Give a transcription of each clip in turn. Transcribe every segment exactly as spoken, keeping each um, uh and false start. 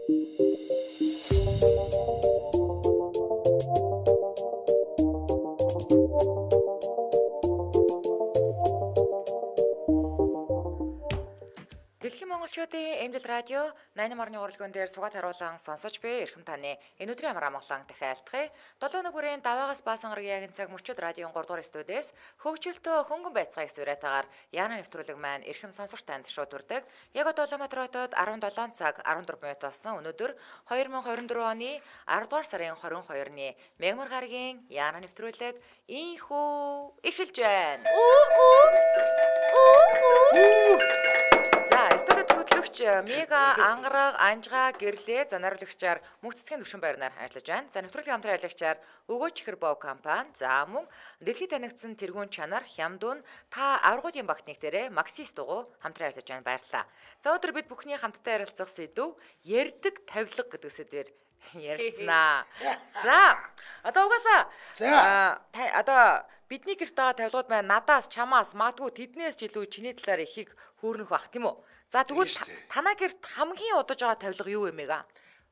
Дэлхийн монголчуудын эмдэл радио найман марны урлагын дээр сугаад харуулан сонсож буй эрхэм таны энэ өдрийн амар амгалан дахиалтгая. долоо нэг бүрийн даваагаас баасан гарагийн цаг мөчид радион гурав дугаар студиэс хөгжилтөө хөнгөн байцгааг сүрэтагаар Яна нэвтрүүлэг маань эрхэм сонсогч танд шууд хүрдэг. Яг одоо Улаанбаатар хотод арван долоон цаг арван дөрвөн минут болсон. Өнөөдөр хоёр мың двадцать дөрвөн оны аравдугаар сарын двадцать хоёрны мегмар гарагийн Яна нэвтрүүлэг ийхүү эхэлж байна. За, студид хөтлөгч Мега ангараг анжгаа гэрлээ занаруулагчаар мөнцөгийн төвшин байрнаар ажиллаж байна. За, нэвтрүүлгийн хамтран ажиллагчаар Өгөөч Хэрбов компани, за мөн дэлхийд танигдсан тэргүүн чанар Хямдун та аврагуудын багтныг дээрээ Максис дугуй хамтран ажиллаж байна, баярлалаа. За, өнөөдөр бид бүхний хамтдаа ярилцах сэдв ярддаг тавилга гэдэг сэдвээр ярилцсанаа. За, одоо угаасаа за одоо бидний гэрт байгаа тавилгууд маань надаас, чамаас, магадгүй тэднээс ч илүү чиний талаар ихийг хөөрнөх бах тийм үү? За тэгвэл танаа гэрт хамгийн удаж байгаа тавилга юу юм эга?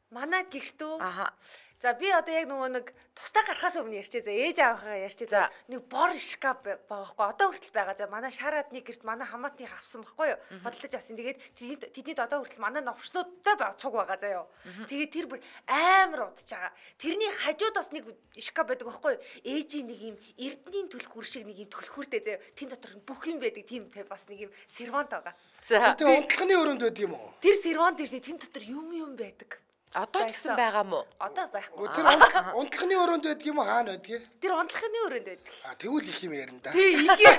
Манай гэрт үү? Аха. За би одоо яг нөгөө нэг тусдаа гарахаас өмнө ярьчээ. За ээж аавынхаа ярьчээ. За нэг бор шкаф байгаа байхгүй. Одоо хүртэл байгаа. За манай шаарадны гэрт манай хамаатны авсан байхгүй юу? Бодлож авсан. Тэгээд тэдний одоо хүртэл манай новчнуудтай цуг байгаа заяа. Тэгээд тэр бүр амар удаж байгаа. Тэрний хажууд бас нэг шкаф байдаг байхгүй юу? Ээжийн нэг юм эрдэнийн түлхүүр шиг нэг юм түлхүүртэй заяа. Тэн дотор бүх юм байдаг. Тийм бас нэг юм сервант байгаа. За тэр унтлагын өрөөнд байдаг юм уу? Тэр сервант дээр тэн дотор юм юм байдаг. Одоо ч гэсэн байгаа мó? Одоо байхгүй. Тэр унтлагын өрөөнд байдаг юм уу, хаана байдаг? Тэр унтлагын өрөөнд байдаг. А тэгвэл их юм ярина да. Тий, их юм.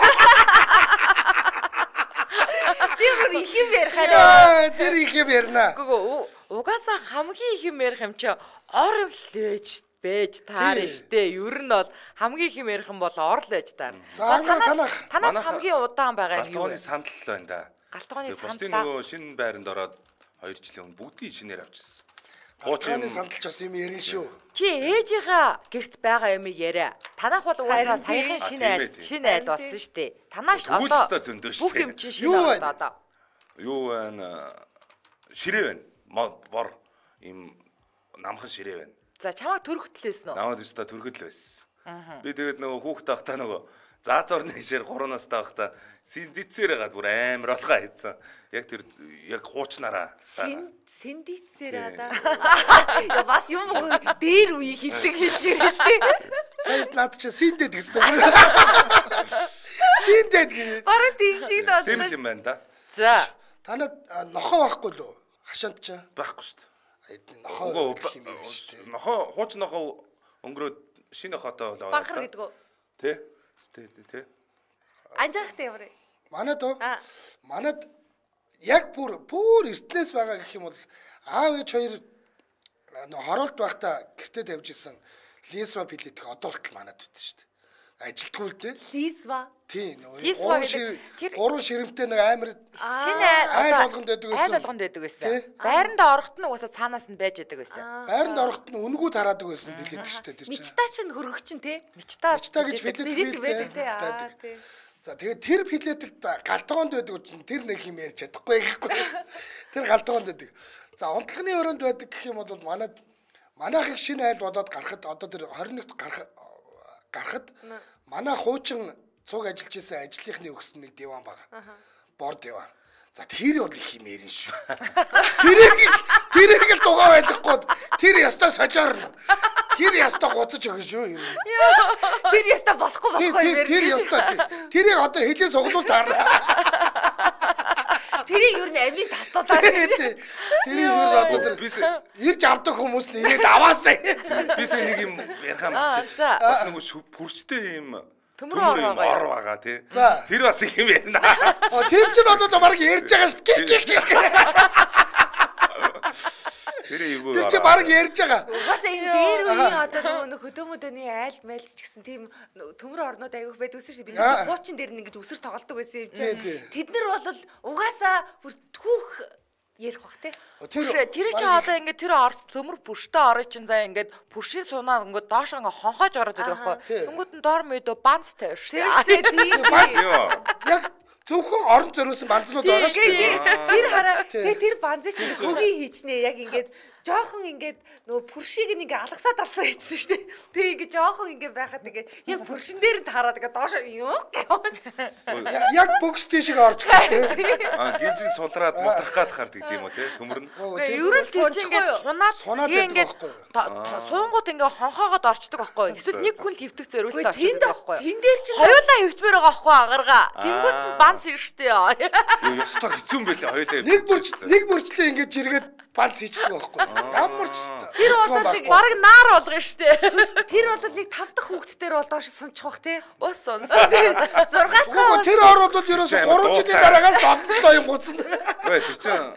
Тэр их юм ярих хараа. Тэр их юм ярина. Гүг угаасаа хамгийн их юм ярих юм чи ор лээж бэж таар штэ. Ер нь бол хамгийн их юм ярих юм бол ор лээж таар. За танах танах хамгийн удаан байгаа юм юу? Галтгооны сандал байна да. Галтгооны сандал. Бусдын нөгөө шинэ байранд ороод хоёр жилийн өмнө бүгдийг шинээр авчихсан. Галтгооны сандалч бас юм ярина шүү. Чи ээжийнхаа гэрт байгаа юм яриа. Танах бол угаасаа саяхан шинэ айл шинэ айл болсон штэ. Танаас одоо бүх юм чинь шинэ болсон одоо. Юу байна? Ширээ байна. Бор им намхан ширээ байна. За чамаа төрөхтлээс нөө. Намайг өстө төрөхтл байсан. Би тэгээд нөгөө хүүхд тахтаа нөгөө заазорны шир гурван настай байхдаа синдицээр гаад бүр амар болохоо хийцэн. Яг тэр яг хуучнараа. Синдицээр аа. Я бас юм дээр үе хэллэг хэллэг хэллээ. Сайн над чи синдэд гэсэн үү? Синдэд гэж. Бараг тийм шиг доо. Тийм юм байна да. За. Танад нохоо байхгүй лөө? Хашаанд ч байхгүй шүү дээ. Нохоо нохоо хууч нохоо өнгөрөөд шинэ нохоотой болоо. Бахар гэдэг үү? Тэ? Тэ тэ. Анжаахтай ямар вэ? Манад уу? Манад яг бүр бүр эртнээс байгаа гэх юм бол аав ээж хоёр хороолт байхдаа гэртээ тавьж исэн лисва пилетик одоо хүртэл манад байдаг шүү дээ. Ажилтгүй л дээ. Лисва. Тийм. Лисва гэдэг тэр гурван ширэмтэй нэг амар шинэ айл болгонд байдаг байсан. Айл болгонд байдаг байсан. Байранд орохт нь угаасаа цаанаас нь байж байдаг байсан. Байранд орохт нь үнгүү тараадаг байсан билет шүү дээ тэр чинь. Мичтаа чинь хөргөгчин те. Мичтаа мичтаа гэж билет байдаг те. Аа тий. За тэгээд тэр билетик галтгоонд байдаг чинь тэр нэг юм ярьж чадахгүй гэхгүй. Тэр галтгоонд байдаг. За унтлагын өрөөнд байдаг гэх юм бол манад манайхыг шинэ айл бодоод гарахад одоо тэр двадцать нэгт гарах гарахад манай хуучин цуг ажиллаж исэн ажлынхны өгсөн нэг диван байгаа. Бор диван. За тэр бол их юм ярин шүү. Тэрийг тэрийг л дугаа байхгүй. Тэр ястаа солиорно. Тэр ястаа гоцож өгнө шүү юм. Тэр ястаа болохгүй болохгүй юм. Тэр ястаа тэрийг одоо хэлээ суглуул таарна. Тэрийг юу нэ амийн таслуулаад. Тэрийг юу одоо тэр ирж авдаг хүмүүс нь ирээд аваасаа. Бис нэг юм ярихаа мчиж. Бас нэг бүрстэй юм төмөр ор байгаа тий. Тэр бас их юм ярина. Тэр чинь одоо баг ярьж байгаа шүү дээ. Тэр юу Тэр чи баг ярьж байгаа. Угаасаа энэ дээр үеийн одоо нөгөө хөдөөмөдөний айл майлч гэсэн тийм төмөр орнууд аявих байдаг гэсэн чинь бид нэг хуучин дээр нэг ингэж өсөр тоглолдог байсан юм чинь. Тэд нар бол угаасаа бүр түүх ярих бах те. Тэр чи одоо ингээд тэр төмөр бүрштэй орой чинь заа ингээд бүршийн сунаа ингээд доош ингээ хонхоож ороод байдаг байхгүй. Тэнгүүд нь дор мэдөө банц тавьж шүү дээ. Тийм. Яг зөвхөн орон зориулсан банзнууд байгаа шүү дээ. Тэр хараа тэгээ тэр банзыг чи хөгийн хийчнээ яг ингээд жоохон ингээд нөгөө пүршиг нэг алгасаад алсаа хийчихсэн шүү дээ. Тэгээ ингээд жоохон ингээд байхад ингээд яг пүршин дээр нь хараад ингээд доош юу гэв. Яг бокс тийшээ орж байгаа тийм. Аа гинжин сулраад мутрах гад хард гэдэг юм уу те төмөрн. Ерөөл тийч ингээд сунаад ингээд суунгууд ингээд хонхоогоод орчдөг байхгүй. Эсвэл нэг хүн хөвтөх зориултаа орчдөг байхгүй. Тэн дээр чи хоёулаа хөвтмээр байгаа байхгүй ангаргаа. Тэнгүүд нь банц ирштэй. Юу ёстой хэцүү юм байлээ хоёулаа. Нэг бүрч нэг бүрчлээ ингээд жиргээд банц хийчихдэг байхгүй. Ямар ч тэр бол нэг баг наар болгоно штэ. Тэр бол нэг тав дахь хүүхдтэр бол доош сунчих бах те. Ус сунс. зургаат Гоо тэр оролдод ерөөсө гурван жилийн дараагаас однолоо юм гуцсан. Ой тэр чинь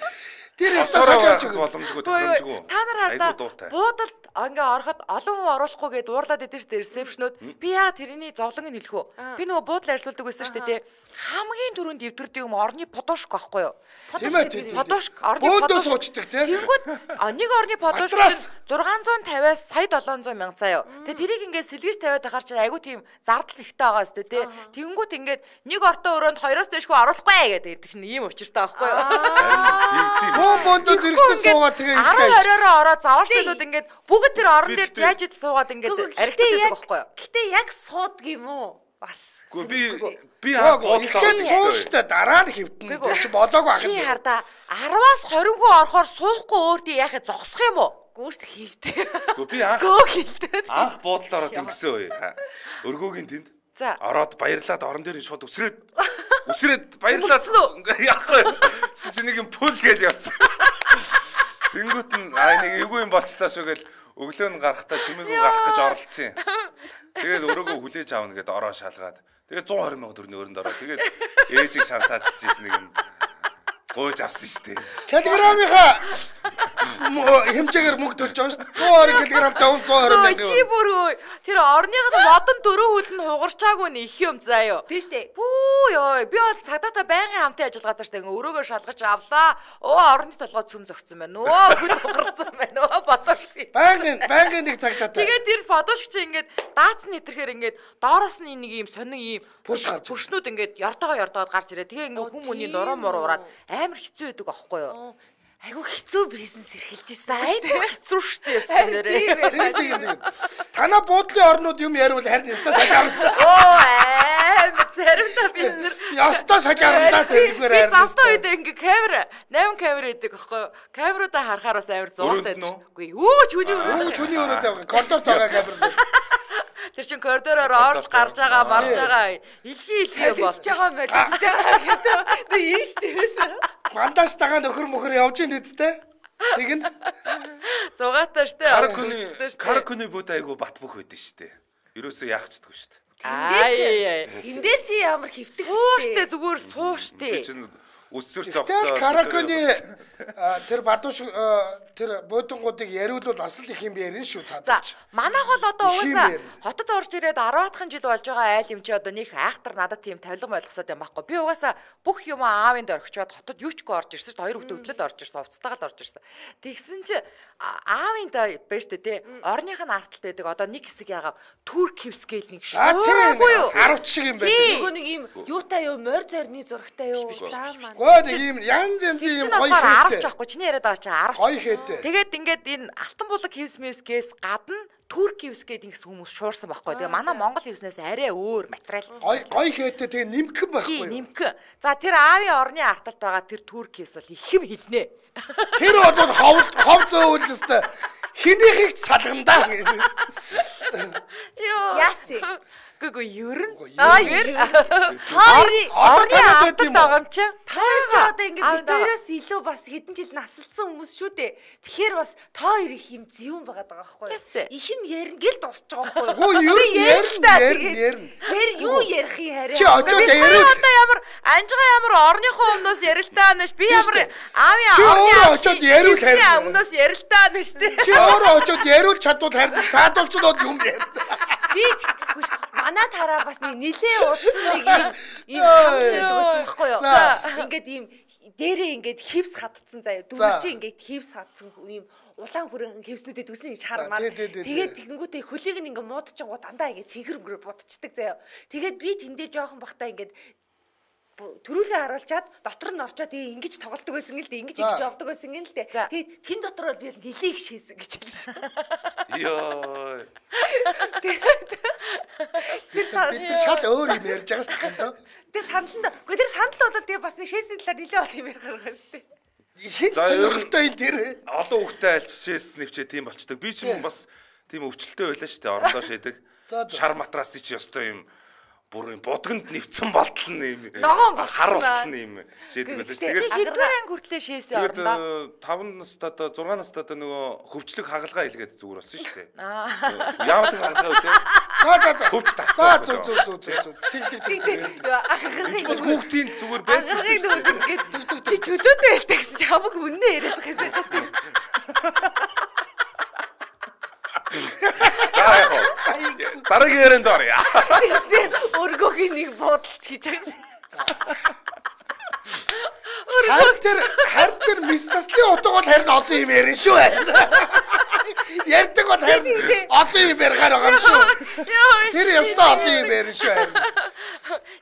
тэр ястаа боломжгүй тохиромжгүй. Та нар хардаа буудалд ингээ ороход олон хүн оруулахгүй гээд уурлаад идэж тэр ресепшнүүд би яа тэрний зовлонг нь хэлэх үү? Би нөгөө буудлаар ажилладаг байсан шүү дээ. Хамгийн түрүүнд дэвтэрдэг юм орны подошк байхгүй юу? Подошк орны подошк суучдаг тийм. Тэнгүүд нэг орны подошк зургаан зуун тавиас сая долоон зуун мянга заа юу. Тэгээ тэрийг ингээ сэлгэж тавиад ахаар чинь айгу тийм зардал ихтэй байгаа шүү дээ. Тэнгүүд ингээд нэг ортоо өрөөнд хоёроос дэшгүй оруулахгүй гэдэг их ийм учиртай байхгүй юу? Боо бондо зэрэгцээ суугаад тэгээ ингээ араа хориороо ороод заварсанууд ингээд бүгд тэр орон дээр яаж ид суугаад ингээд аригтдаг байхгүй юу? Гэтэ яг суудаг юм уу? Бас. Гэхдээ би би аа бодлоо сууштай дараа нь хэвдэн тэр чи болоогүй ах юм. Чи хардаа араваас хориггүй орохоор суухгүй өөртөө яхаа зогсох юм уу? Гүүшт хийжтэй. Гэхдээ би анх гөө хилтэй. Анх буудалд ороод ингэсэн үе. Өргөөгийн тэнд. За. Ороод баярлаад орон дээр шууд өсрээд өсрээд баярлаад яахгүй. Чи нэг юм пул гэж явцсан. Тэнгүүт нь аа нэг эвгүй юм болчлаа шүү гэл өглөө нь гарахтаа чимээгүй гарах гэж оролцсон юм. Тэгээд өрөөгөө хүлээж аавна гэд ороо шалгаад. Тэгээд one twenty сая төгрөгийн өрөнд ороо. Тэгээд ээжийг шантаачилж ийс нэг юм гойж авсан шүү дээ. Килограммынхаа хэмжээгээр мөнгө төлж байгаа шүү. one twenty килограммтай one twenty мянга. Чи бүрөө тэр орных нь модон дөрөв хөл нь хугарчаагүй нь их юм заа юу. Тийм шүү дээ. Бүү ёо би бол цагдаатай байнгын хамтын ажиллагаатай шүү дээ. Ингээ өрөөгөө шалгаж авлаа. Оо орны толгой цөм зөгцсөн байна. Нөө хөл хугарсан байна. Нөө бодош. Байнгын байнгын нэг цагдаатай. Тэгээд тэр фотошч чи ингээд даацны нэтерхээр ингээд доороос нь нэг юм сонин ийм пүрш гарч пүршнүүд ингээд яртаага яртаагаад гарч ирээ. Тэгээ ингээ хүмүүний нуруу муруу ураад амар хэцүү байдаг аахгүй юу? Айгу хэцүү бизнес эрхэлж ийсэн. Айгу хэцүү штэ нэрээ. Тийм тийм тийм. Танаа буудлын орнууд юм яривал харин ястаа сахиарна. Оо аа заримдаа бид нэр ястаа сахиарна тэргээр харин. Завтаа үед ингээ камера eight камера идэг аахгүй юу? Камеруудаа харахаар бас амар зурдаг шүү. Үгүй юу чүний өрөө. Юу чүний өрөө тавь. Коридор тагаа камера. Тэр чин коридороор орж гарч байгаа марж байгаа илхий илхий болж байгаа юм байна. Тэгж байгаа гэдэг. Тэг юм штэ. Мандаш тагаа нөхөр мөхөр явж ийн үсттэй. Тэгнэ. Зугаатай штэ. Каркуны каркуны бод айгу бат бөх байдэн штэ. Ерөөсөө яахчдаггүй штэ. Тэн дээр чи ямар хэвтэг штэ. Зүгээр суу штэ. Өссөр цогцоо. Тэр караконы тэр бадууш тэр буудангуудыг яриулвал бас л их юм ярина шүү цаадч. За манайх бол одоо угаасаа хотод орж ирээд ten дахь жил болж байгаа айл юм чи одоо нэг айхтар надад тийм тавилга болгосоод юм байхгүй. Би угаасаа бүх юм аавын дээр орчоод хотод юу ч гүй орж ирсэн шүү. Хоёр хүүхдээ хөдлөл орж ирсэн, уцтайгаа л орж ирсэн. Тэгсэн чи аавын дээр байж тээ орных нь арталт байдаг. Одоо нэг хэсэг ягаа Турк хевскейл нэг шүү. Арав шиг юм байдаг. Нөгөө нэг юм юутай юу морь зорны зурагтай юу. Гоо нэг юм янз янз юм гоё хийдэг. Аравч авахгүй чиний яриад байгаа чинь аравч. Гоё хийдэг. Тэгээд ингээд энэ алтан булаг хевс мэвсгээс гадна Турк хевс гэдэг ингэс хүмүүс шуурсан байхгүй. Тэгээ манай Монгол хевснээс арай өөр материал. Гоё гоё хийдэг. Тэгээ нимхэн байхгүй юу? Нимхэн. За тэр аавын орны арталт байгаа тэр Турк хевс бол их юм хэлнэ. Тэр бол хов хов зөөлстэй. Хинийхийг салгандаа. Йоо. Яси. Гүгү ерөн. Аа ер. Та орны арталт байгаа юм чи. Та хоёр ч одоо ингэ битээрээс илүү бас хэдэн жил насалсан хүмүүс шүү дээ. Тэгэхээр бас та хоёр их юм зэвүүн байгаад байгаа байхгүй юу? Их юм ярина гэл дуусч байгаа байхгүй юу? Гүү ер ярина ярина ярина. Хэр юу ярих юм хараа. Чи очоод ярил. Одоо ямар анжгаа ямар орныхоо өмнөөс ярилтаа нэш би ямар аавын орны очоод ярил харин. Өмнөөс ярилтаа нэш тий. Чи өөрөө очоод ярил чадвал харин цаадуулчнууд юм ярина. Би манай тараа бас нэг нилээ удсан нэг юм ийм санагддаг байсан байхгүй юу? Ингээд ийм дээрээ ингээд хевс хатцсан заяа. Дөрөв чи ингээд хевс хатцсан ийм улаан хүрэн хевснүүдэд үсэн гэж хармаар. Тэгээд тэгэнгүүтээ хөлийг нь ингээд муудчихгоо дандаа ингээд цэнхэр өнгөрөө будчихдаг заяа. Тэгээд би тэндээ жоохон бахтаа ингээд төрүүлээ харуулчаад дотор нь орчоод ингэж тоглолдог байсан гэл дээ. Ингэж ингэж явдаг байсан гэл дээ. Тэгээд тэн дотор бол би нилээ их шээсэн гэж хэлсэн. Йоо. Тэр бид шал өөр юм ярьж байгаа шүү дээ. Тэр саналнд үгүй тэр санал бол тэгээ бас нэг шээсний талаар нилээ бол юм ярих гаргаж шүү дээ. Хэд сонирхолтой энэ тэр олон хүүхдэд альч шээс нэвчээ тийм болчдөг. Би ч юм бас тийм өвчлөлтэй байлаа шүү дээ. Орондоо шээдэг. Шар матрасыг чи ёстой юм бүр юм будганд нэвцэн болтол юм. Хар болтол юм шээдэг байлаа шүү. Тэгээд хэдвэр анги хүртлээ шээсээ орондоо. таван настад зургаан настад нөгөө хөвчлөг хагалгаа илгээд зүгээр болсон шүү дээ. Яагаад тэр хагалгаа вэ? За за за. Хөвч тас. За зүг зүг зүг зүг. Тэг тэг тэг. Энд бол хүүхдийн зүгээр байж. Ангарыг нөгөө ингээд чи чөлөөтэй хэлдэг гэсэн чи хамаг үннээ яриад байгаа юм. За яах вэ? Дараагийн ярианд орё. Өргөгийн нэг бодолч хийж байгаа юм. Харин тэр харин тэр миссаслын утга бол харин олон юм ярина шүү. Ярьдаг бол харин олон юм ярихаар байгаа юм шүү. Тэр ястаа олон юм ярина шүү харин.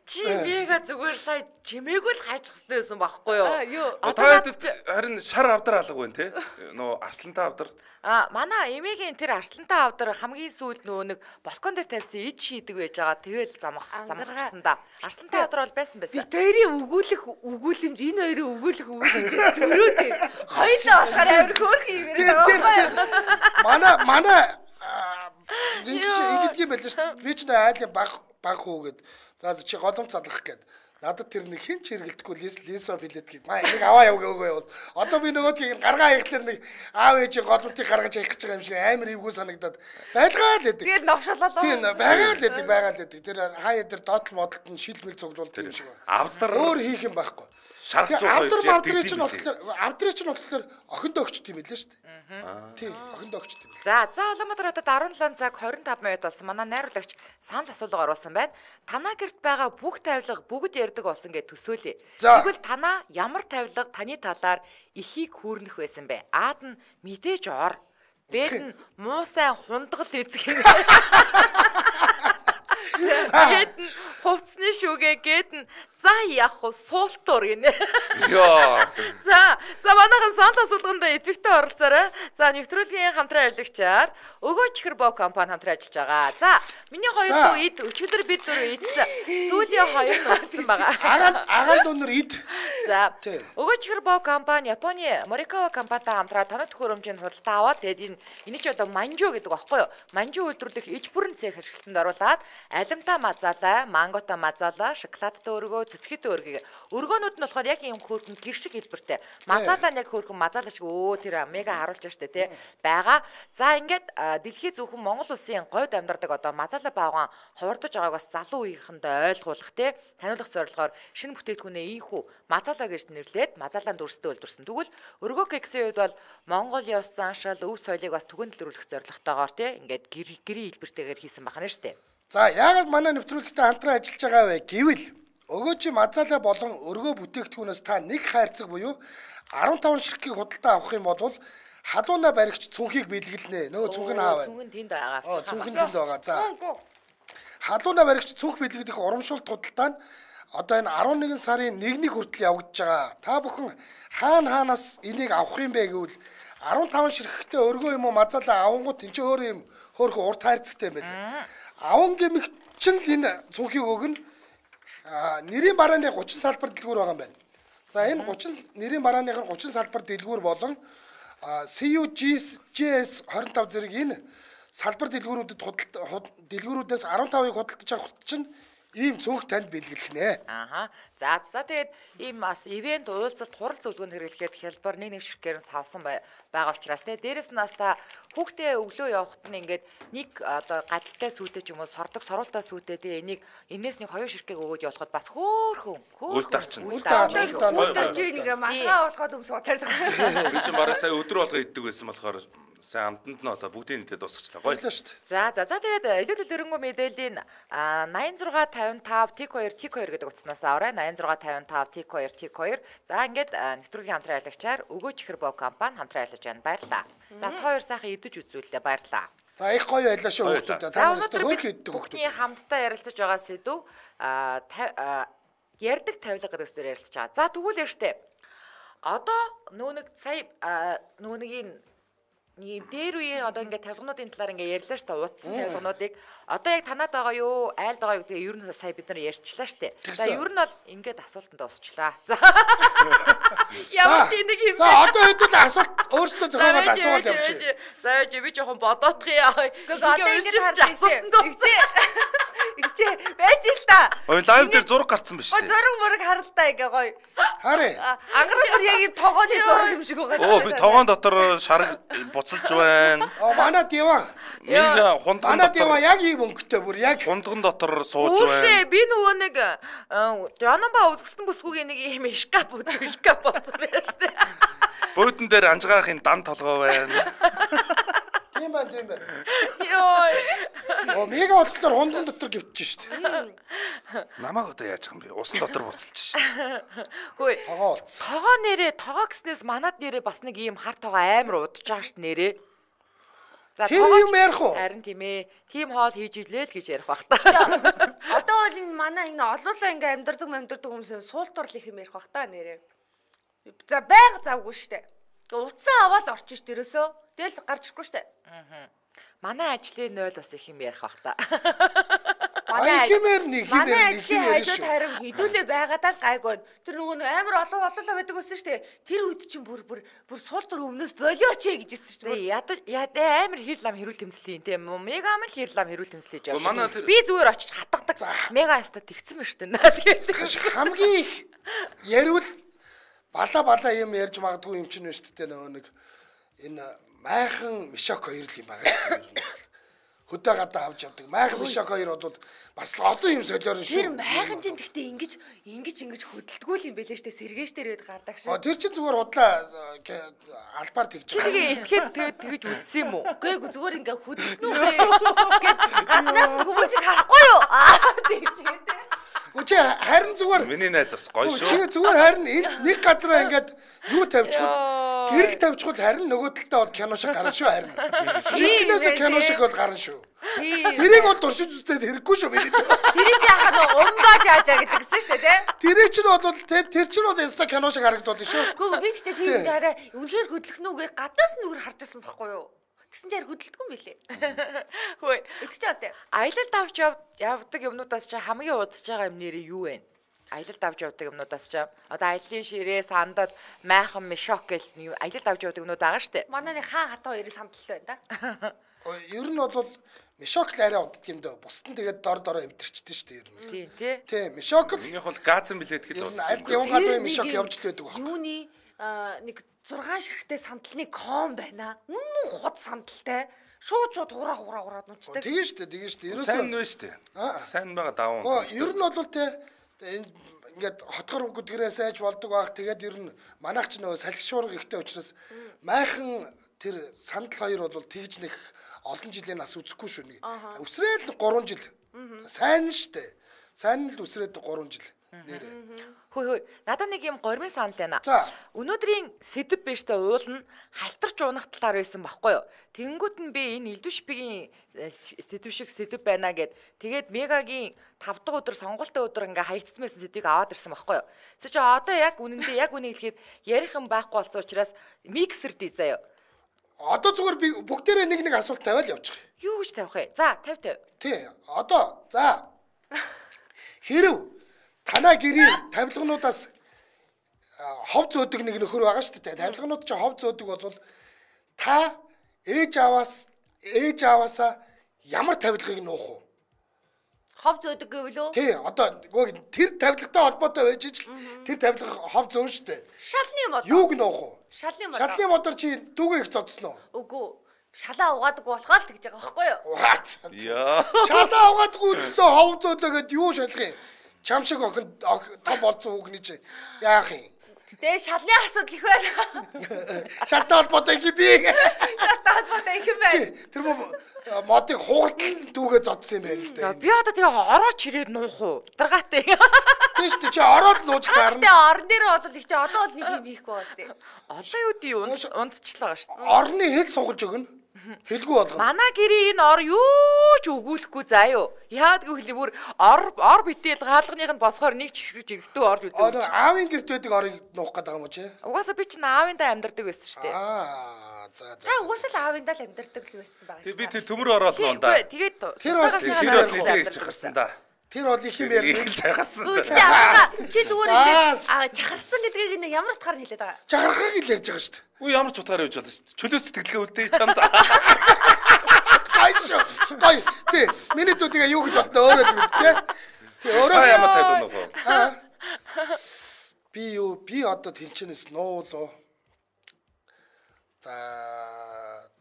Чи мега зүгээр сая чимээгүй л хайчих хэрэгтэй байсан байхгүй юу? Одоо харин шар авдар алга байна те. Нөө арслантай авдар. А манай эмээгийн тэр арслантай авдар хамгийн сүүлд нөгөө нэг балкон дээр тавьсан ид шийдэг байж байгаа. Тэгэл замах замахсан да. Арслантай авдар бол байсан байсан. Би тэрийн өгүүлэх өгүүлэмж энэ хоёрын өгүүлэх өгүүлэмж зөрөөтэй. Хоёулаа болохоор авир хөөрхөн юм яриад байгаа. Манай манай ингэж ингэдэг юм байл шүү. Би ч нэ айлын баг баг хүү гэд. За чи голомт залгах гэд. Надад тэр нэг хин ч хэрэгэлдэхгүй лис лисо билетгийг маа нэг аваа явгаа явал. Одоо би нөгөөдгийг гаргаа хийхлээр нэг аав ээжийн голомтыг гаргаж явах гэж байгаа юм шиг амар эвгүй санагдаад байлгаа л гэдэг. Тэгээд новшуулаад. Тийм байгаа л гэдэг байгаа л гэдэг. Тэр хаяа тэр доотл модолт нь шилмэл цуглуулдаг юм шиг байна. Авдар өөр хийх юм байхгүй. Шарх цуухай явж авдрын чинь болохоор авдрын чинь болохоор охиндоо өгчт юм билээ шүү дээ. Тийм охиндоо өгчт юм. За за Улаанбаатар хотод арван седем цаг двадцать пять минут болсон. Манай найруулагч санал асуулга оруулсан байна. Танаа гэрт байгаа бүх тавилга бүгд ярддаг болсон гэж төсөөлье. Тэгвэл танаа ямар тавилга таны талаар ихийг хүүрнэх байсан бэ? Аад нь мэдээж ор. Бэд нь муу сайн хундгал эзэг юм. Гэт нь хувцсны шүүгээ гэт нь за яах вэ суултуур гинэ. Йоо. За за манайхан санал асуулганд идэвхтэй оролцоорой. За нэвтрүүлгийн хамтран ажиллагчаар Өгөө чихэр боо компани хамтран ажиллаж байгаа. За миний хоёр дүү ид өчигдөр бид дөрөв идсэн. Сүүлийн хоёр нь удсан байгаа. Агаан агаан дүүнэр ид. За Өгөө чихэр боо компани Японы Morikawa компанитай хамтран тоног төхөөрөмжийн худалдаа аваад тэгээд энэ энийг ч одоо манжу гэдэг багхгүй юу? Манжу үйлдвэрлэх иж бүрэн цех ашиглалтанд оруулаад алимта мазалаа, мангота мазалаа, шоколадтай өргөө, цэцгийтэй өргөгийг. Өргөөнүүд нь болохоор яг юм хөөрхөн гэр шиг хэлбэртэй. Мазалаа нэг хөөрхөн мазалаа шиг өө тэр мега харуулж штэ тий байгаа. За ингээд дэлхий зөвхөн Монгол улсын говьд амьдардаг одоо мазалаа баагаан хувирдаж байгааг бас залуу үеийнхэнд ойлгуулах тий таниулах зорилгоор шинэ бүтээгдэхүүнээ ийхүү мазалаа гэж нэрлээд мазалаанд өрсөлдөө үйлдвэрсэн. Тэгвэл өргөө кексийн үед бол Монгол ёс заншил, өв соёлыг бас түгээн дэлгэрүүлэх зорилготойгоор тий ингээд гэрийн хэлбэртэйгээр хийсэн байна штэ. За яагаад манай нэвтрүүлэгтэй хамтран ажиллаж байгаа вэ гэвэл өгөөжи мазалаа болон өргөө бүтээгдэхүүнээс та нэг хайрцаг буюу арван таван ширхгийг худалдаа авах юм бол халууна баригч цүнхийг бэлгэлнэ. Нөгөө цүнх нь аав байна. Цүнх нь тэнд байгаа. Оо цүнх нь тэнд байгаа. За. Халууна баригч цүнх бэлгэлэх урамшуулт худалдаа нь одоо энэ арван нэгэн сарын нэгний хүртэл явагдаж байгаа. Та бүхэн хаана хаанаас энийг авах юм бэ гэвэл арван таван ширхэгтэй өргөө юм уу мазалаа авангууд энэ ч өөр юм хөөрхөн урт хайрцагтай юм байна. Аван гэмэгт чинь энэ цүнхийг өгнө. Нэрийн барааны гучин салбар дэлгүүр байгаа юм байна. За энэ гучин нэрийн барааных нь гучин салбар дэлгүүр болон си ю джи эс двадцать пять зэрэг энэ салбар дэлгүүрүүдэд дэлгүүрүүдээс арван тавыг худалдаж авах чинь ийм цүнх танд бэлгэлэх нэ. Ааха. За за тэгээд ийм бас ивент уулзалт хурал зөвлөгөөнд хэрэглэхэд хялбар нэг нэг ширхгээр нь савсан байгаа учраас тэгээд дээрэс нь бас та хүүхдээ өглөө явахад нь ингээд нэг одоо гадалтай сүйтэй ч юм уу сордог соруултаа сүйтэй тэгээд энийг энэс нэг хоёр ширхгийг өгөөд явуулахад бас хөөхөн үл дарчин. Үл дарчин. Үл дарчин нэг масгаа уулахад өмс утаар. Би ч бараг сая өдөр болго иддэг байсан болохоор сайн амтанд нь одоо бүгдийн нэтэд дуусгачлаа. Гоё л шүү дээ. За за за тэгээд илүүл өрөнгөө мэдээллийн найман зургаан тавин тавь тик хоёр тик хоёр гэдэг утаснаас аваарай. найман зургаан тавин тавь тик хоёр тик хоёр. За ингээд нэвтрүүлгийн хамтран ажиллагчаар Өгөө чихэр боо компани хамтран ажиллаж байна. Баярлалаа. За та хоёр сайхан идэж үзүүллээ. Баярлалаа. За их гоё байлаа шүү хүмүүстээ. Та нартай хөөрхөн иддэг хүмүүс. Хүүхдийн хамтдаа ярилцаж байгаа сэдв ярддаг тавилга гэдэг зүйл ярилцж байгаа. За тэгвэл ярьжтэй. Одоо нөө нэг сая нөө нэг юм дээр үеийн одоо ингээд тавилгануудын талаар ингээд ярьлаа шүү дээ. Утсан тавилгануудыг одоо яг танаад байгаа юу, айлд байгаа юу гэдгийг ер нь сая бид нар ярьчлаа шүү дээ. За ер нь бол ингээд асуултанд дуусчлаа. За. Ямар нэг юм бэ? За одоо хэдүүл асуулт өөрсдөө зохиогоод асуулт явуулчих. За яа би жоохон бодоодох юм. Гэхдээ одоо ингээд харчихсан. Игчээ байж л та. Ой лайв дээр зураг гарцсан ба шүү дээ. Зураг мураг харалтаа ингээ гоё. Харъя. Ангараг бүр яг энэ тогооны зураг юм шиг байгаа. Оо би тогоон дотор шараг буцалж байна. Оо манай Дива. Нэг хундган Манай Дива яг ийм өнгөтэй бүр яг хундган дотор сууж байна. Үшээ би нөгөө нэг Жанамба үзсэн бүсгүйгийн нэг юм шкаф үүдг шкаф болсон байна шүү дээ. Буудан дээр анжгаахын дан толгой байна. Тийм байна, тийм байна. Йой. Оо мега бодлоор хундган дотор гівчих шүү дээ. Намайг одоо яаж байгаа юм бэ? Усан дотор буцалж шүү дээ. Хөөе. Тогоо болцсон. Тогоо нэрээ тогоо гэснээс манад нэрээ бас нэг ийм хар тогоо амар удаж байгаа шүү нэрээ. За Тэр юм ярих уу? Харин тийм ээ. Тим хоол хийж илээ л гэж ярих бах та. Одоо бол энэ манай энэ олуулаа ингээ амьдардаг амьдардаг хүмүүсээ суултуурл их юм ярих бах та нэрээ. За байг завгүй штэ. Утсан аваад орчих ш дээрөөсөө. Тэгэл гарч ирэхгүй штэ. Аа. Манай ажлын нойл бас их юм ярих бах та. Манай хэмээр нэг хэмээр манай нэг ажлын хэмээр хажууд харин хідүүлээ байгаадаа л гайгүй. Тэр нөгөө нэг амар олон олоолаа байдаг байсан штэ. Тэр үед чинь бүр бүр бүр суултур өмнөөс болиоч ээ гэж хэлсэн штэ. Яда яда амар хэр лам хэрүүл тэмцлийн тийм мега амар хэр лам хэрүүл тэмцлэж Манай явсан. тэр- Би зүгээр очиж хатгадаг. Мега яста тэгсэн ба штэ. Тэгээд хамгийн их яриул бала бала юм ярьж магадгүй юм чинь шүү дээ нөгөө нэг энэ майхан мишок хоёр л юм байгаа шүү дээ. Хөдөө гадаа авч явдаг. Майхан мишок хоёр бол бас одоо юм солиорн Тэр шүү. майхан чинь тэгтээ ингэж ингэж ингэж хөдөлтгүү л юм бэлээ штэ. Сэргээш дээр үед гардаг шиг. А тэр чинь зүгээр удлаа албаар тэгж байгаа. тэгээ итгэхэд тэгээд тэгж үтсэн юм уу? Үгүй ээ зүгээр ингээ хөдөлтнүү гэд гаднаас хүмүүсийг харахгүй юу? Аа тэгж гэдэг. Үгүй харин зүгээр Миний найз бас гоё чи шүү. зүгээр харин энэ нэг газараа ингээд юу тавьчихвал гэрэл тавьчихвал харин нөгөө талдаа бол кино шиг гарна шүү харин. Чинээс кино шиг бол гарна шүү. Тэрийг бол туршиж үзээд хэрэггүй шүү миний. Тэр чи яхаа нөө умгаа жаажаа гэдэг гэсэн шүү дээ тий. Тэр чинь бол тэр тэр чинь бол инста кино шиг харагдвал шүү. Үгүй би тэгтээ тийм дараа үнэхээр хөдлөхнүүгээ гадаас нь үгээр харж байсан байхгүй юу? Тэгсэн чинь хөдөлтгүй юм билээ. Хөөе. Итгэж байгаа сте. Аялалд авч явдаг юмнуудаас чи хамгийн удаж байгаа юм нэрээ юу вэ? Аялалд авч явдаг юмнуудаас чи одоо аяллаа ширээ, сандал, майхан, мишок гэл аялалд авч явдаг юмнууд байгаа штэ. Манай нэг хаан хатаа хоёрыг самтал байна да. Ер нь бол мишок л арай уддаг юм даа. Бусд нь тэгээд дор дороо эвдэрчдэн шүү дээ ер нь. Тийм тий. Тийм мишок л Минийх бол газан билет ер гэхэд нь аль явган гадаа мишок явж л байдаг баг. Юуны нэг зургаан ширхтээ сандалны ком байна. Үнэн хот сандалтай. Шууд шууд хураа хураа хураад нуучдаг. Тэгээ шүү дээ, тэгээ шүү дээ. сайн Ерөөсөө нэ шүү дээ. Сайн байгаа даван. оо ер нь бол те ингээд хотгор гүдгэрээ сайж болдог баг. Тэгээд ер нь манайх ч нөгөө салхи шуурга ихтэй учраас майхан тэр сандал хоёр бол тэгж нэг олон жилийн нас үзэхгүй шүү нэг. Өсрээд гурван жил. Сайн шүү дээ. Сайн л өсрээд гурван жил. Нэрээ. Хөөе хөөе. Надад нэг юм гормын санал байна. За. Өнөөдрийн сэдв биш та уул нь халтарч унах талаар байсан байхгүй юу? Тэнгүүт нь би энэ элдв шипигийн сэдв шиг сэдв байна гэд тэгээд мегагийн тав дахь өдөр сонгуультай өдөр ингээ хаягдсан байсан сэдвийг аваад ирсэн байхгүй юу? Тэс чи одоо яг үнэндээ яг үнийг хэлэхэд ярих юм байхгүй болсон учраас миксер дий заяа. Одоо зүгээр би бүгдээрээ нэг нэг асуулт тавиал явчих. Юу гэж тавих вэ? За тавь тавь. Тий. Одоо за. Хэрв танаа гэрийн тавилгануудаас хов зөөдөг нэг нөхөр байгаа шүү дээ. Тавилганууд чинь хов зөөдөг бол та ээж аваас ээж аваасаа ямар тавилгыг нуух вэ? Хов зөөдөг гэвэл үү? Тий, одоо нөгөө тэр тавилгатай холбоотой байж ижил тэр тавилга хов зөөн шүү дээ. Шалны мод. Юуг нуух вэ? Шалны мод. Шалны модор чи дүүгээ их цодсон уу? Үгүй. Шалаа угаадаг болохоо л тэгж байгаа байхгүй юу? What? Яа. Шалаа угаадгүй төлөө хов зөөлөөгээд юу шалах юм? Чам шиг охин том болсон хүүхний чи яах юм? Тэгээ шалны асуудал их байна. Шалтай холбоотой их би. Шалтай холбоотой их байна. Тэр модыг хууртал дүүгээ зодсон юм байна л дээ. Би одоо тэгээ орооч ирээд нуух уу? Даргаатай. Тийм шүү дээ чи ороод нууж таарна. Тэгээ орон дээр бол их чи одоо бол нэг юм хийхгүй байна тий. Одоо юу дий ундчлаа шүү дээ. Орны хэл сугалж өгнө. Хэлгүй болгоно. Манай гэрийн энэ ор юу ч өгүүлэхгүй заа юу. Яад гэвэл бүр ор ор битэл хаалганых нь босохоор нэг чихрэж ирэхтүү орж үзээ. Аа аавын гэрт байдаг орыг нуух гэдэг юм уу чи? Угаасаа би чинь аавындаа амьдардаг байсан шүү дээ. Аа за за. Та угаасаа л аавындаа л амьдардаг л байсан байгаа шүү. Би тэр төмөр ороод нуун да. Тэгээд тэр бас тэр бас нэлээд чахарсан да. Тэр бол их юм ярина. Чахарсан. Үүдээ аа чи зүгээр ингэ чахарсан гэдгийг энэ ямар утгаар хэлээд байгаа. Чахархаг л ярьж байгаа шүү дээ. Үгүй ямар ч утгаар явж болно шүү дээ. Чөлөөс сэтгэлгээ үлдээ чамд. Гайшо. Гай. Тэ миний дүүдээ юу гэж бодно өөрөө тэ. Тэ өөрөө ямар тайлбар нөхөө. Би юу би одоо тэнчэнэс нуулоо. За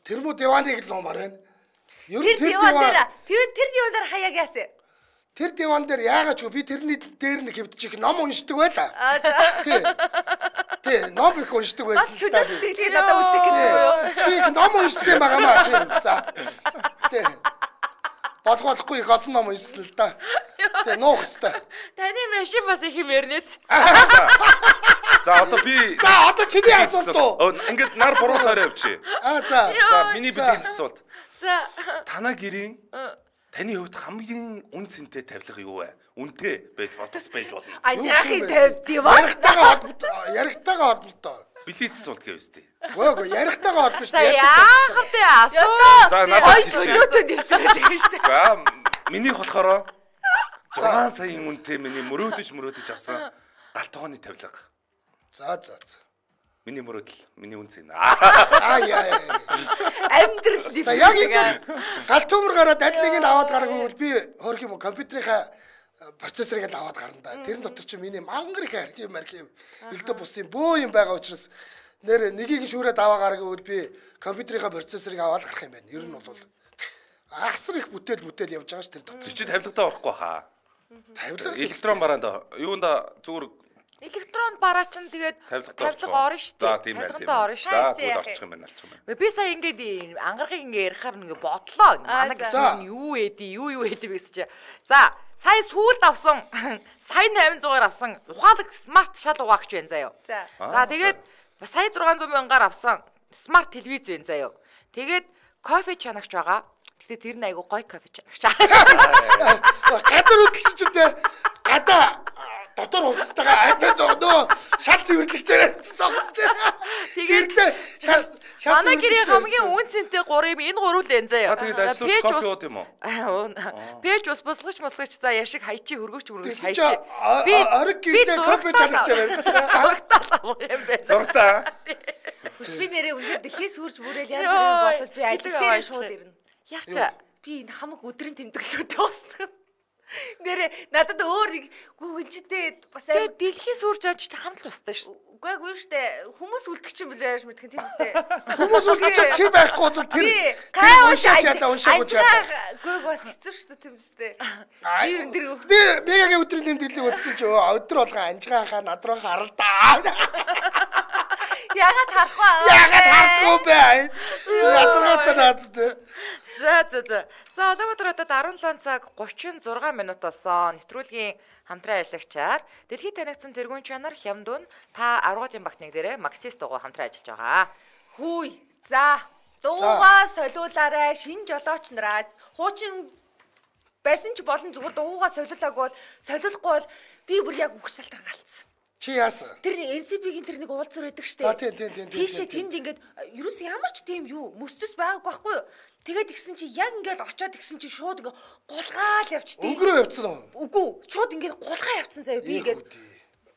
тэр муу диваныг л нуумаар байна. Тэр диван дээр тэр тэр диван дээр хаяаг яасан. Тэр диван дээр яагаад ч би тэрний дээр нэг хэвдчих ном уншдаг байла. Аа за. Тий. Тий, ном их уншдаг байсан. Бас чөлөөс сэтгэлгээ надад үлдэх гэдэг юу? Би их ном уншсан юм байгаамаа. Тий. За. Тий. Бодгохгүй их олон ном уншсан л да. Тий, нуух хэвээр. Таны машин бас их юм ярнэц. За одоо би За одоо чиний асуулт уу? Ингээд нар буруу таараа явчих. Аа за. За миний билийн асуулт. За. Танаа гэрийн таны хувьд хамгийн үн цэнтэй тавилга юу вэ? Үнэтэй байж бодос байж болно. Ажаахын тавь диван. Ярихтайгаа холбоотой. Ярихтайгаа холбоотой. Билет асуулт гэв үстэй. Гөө гөө ярихтайгаа холбоотой шүү За дээ. яах вэ асуу. За надаас чи. Чөлөөтэй дэлгэрээд байгаа шүү дээ. За миний болохоор зургаан саяын үнэтэй миний мөрөөдөж мөрөөдөж авсан галтгооны тавилга. За за за. Миний мөрөөдөл, миний үн цэн. Аа яа. Амьдрал За яг ингэ галт төмөр гараад аль нэг нь аваад гаргавал би хөрх юм уу компьютерийнхаа процессорыг л аваад гарна да. Тэрэн дотор чи миний мангар их архив мархив элдэ бусын бөө юм байгаа учраас нэр нэгийг шүүрээд аваа гаргавал би компьютерийнхаа процессорыг аваад гарах юм байна. Ер нь бол асар их бүтээл бүтээл явж байгаа ш тэр дотор. Тэр чи тавилгатаа орохгүй хаа. Тавилга Электрон бараанда юунда зүгээр Электрон бараа чинь тэгээд тавилгатаа тавилга орно шүү дээ. За тийм байна. Тавилгатаа орно шүү. За тэгвэл орчих юм байна, орчих юм байна. Би сая ингээд ангарахыг ингээд ярихаар ингээ бодлоо. Манай гэрийн юу ээдий, юу юу ээдий гэсэн чи. За, сая сүүлд авсан, сая восемь hundred-аар авсан ухаалаг смарт шал угаагч байна заяа. За. За, тэгээд сая six hundred мянгаар авсан смарт телевиз байна заяа. Тэгээд кофе чанагч байгаа. Гэтэ тэр нь айгу гой кофе чанагч. Гадар хөдөлсөн ч дээ гадаа дотор хувцастайгаа адаа нөө шал цэвэрлэгч байгаа цогсож байна. Тэгээд шал шал манай гэрийн хамгийн үн цэнтэй гурав юм энэ гурав л энэ заяа. Тэгээд ажиллаж кофе ууд юм уу? Пэж ус босгоч мосгоч за яшиг хайчи хөргөч хөргөч хайчи. Би ориг гэрээ кофе чанагч байгаа. Зургатаа юм байна. Зургатаа. Би нэрээ үнээр дэлхийс үрж бүрэл янз бүрийн болол би ажил дээр шууд ирнэ. Яг чаа. Би энэ хамаг өдрийн тэмдэглэлтэй уусгах. Нэрээ надад өөр гүгэнчтэй бас тэгээд дэлхийс үрж авч хамт л устаа шүү. Үгүй гүй штэ хүмүүс үлдэх чинь билээ яаж мэдэх тийм үстэй. Хүмүүс үлдэж чи байхгүй бол тэр гай уншаач ядаа уншаач ядаа. Үгүй бас хэцүү штэ тийм үстэй. Би ер нь би мегагийн өдрийн тэмдэглэлийг үзсэн ч өдөр болгоо анжгаа хаа над руу харалдаа. Ягаад харахгүй аа? Ягаад харахгүй бэ? Ядаргатай наадтай. За за за. За одоо өдөр одоо seventeen цаг thirty-six минут болсон. Нэвтрүүлгийн хамтран ажиллагчаар дэлхийд танигдсан тэргуун чанар Хямдун та аргуудын багтныг дээрээ Максис дугуй хамтран ажиллаж байгаа. Хүй. За. Дуугаа солиулаарай. Шин жолооч нараа. Хуучин байсан ч болон зүгээр дуугаа солиулаагүй бол солиулахгүй бол би бүр яг үхс шалтгаан галцсан. Чи яасан? Тэр эн си би-гийн тэр нэг уулзуур байдаг штэ. За тийм тийм тийм. Тийшээ тэнд ингээд ерөөс ямар ч тийм юу мөсцөс байгаагүй байхгүй юу? Тэгээд игсэн чи яг ингээд очоод игсэн чи шууд ингээ гулгаал явчихдээ. Өнгөрөө явцсан уу? Үгүй, шууд ингээд гулгаа явцсан заяа би ингээд.